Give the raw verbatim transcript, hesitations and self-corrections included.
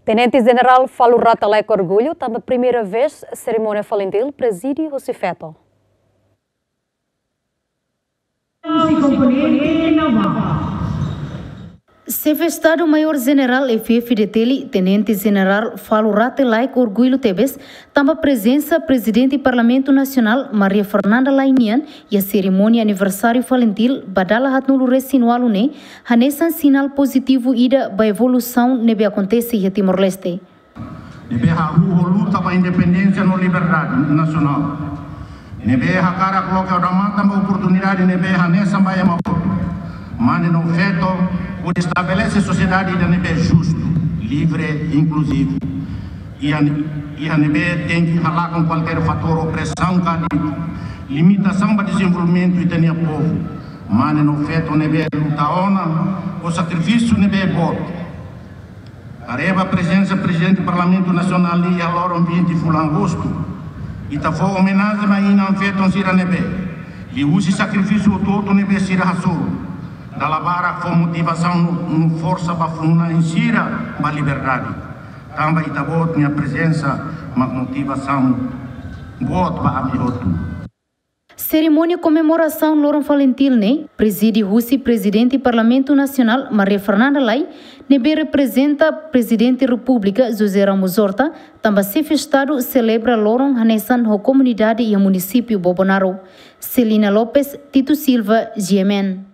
Tenente Jenerál Falur Rate Laek Orgullu, tanba primeira vez, serimónia FALINTIL prezide husi feto. Xefe Estadu Maiór Jenerál F-FDTL, Tenente Jenerál Falur Rate Laek Orgullu tebes, tanba prezensa Prezidente Parlamentu Nasionál Maria Fernanda Lay nian iha serimónia aniversáriu FALINTIL ba dala haatnulu resin ualu ne'e, hanesan sinál pozitivu ida ba evolusaun ne'ebé akontese iha Timor-Leste. Ne'ebé hahú ho luta ba independénsia no liberdade nasionál. Ne'ebé hakarak loke odamatan ba oportunidade ne'ebé hanesan ba ema hotu. Mane no feto hodi estabelese sosiedade ida ne'ebé justu, livre, inkluzivu. Iha, iha ne'ebé tenke halakon kualkér fatór opresaun ka li-, limitasaun ba dezenvolvimentu ita-nia povu. Mane no feto ne'ebé luta ona ho sakrifísiu ne'ebé boot. Haree ba prezensa Prezidente Parlamentu Nasionál iha loron vinte fulan Agostu, ita fó omenajen ba inan-feton sira ne'ebé, liuhusi sakrifísiu hotu-hotu ne'ebé sira hasoru, dala barak fó motivasaun no, no forsa ba funu-na'in sira ba liberdade. Tanba ita-boot nia prezensa mak motivasaun boot ba ami hotu. Serimónia komemorasaun Loron FALINTIL ne'e prezide husi Prezidente Parlamentu Nasionál Maria Fernanda Lay, ne'ebé reprezenta Prezidente Repúblika José Ramos Horta, tanba Xefe Estadu selebra loron hanesan ho komunidade iha munisípiu Bobonaro. Celina Lopes, Tito Silva, G M N.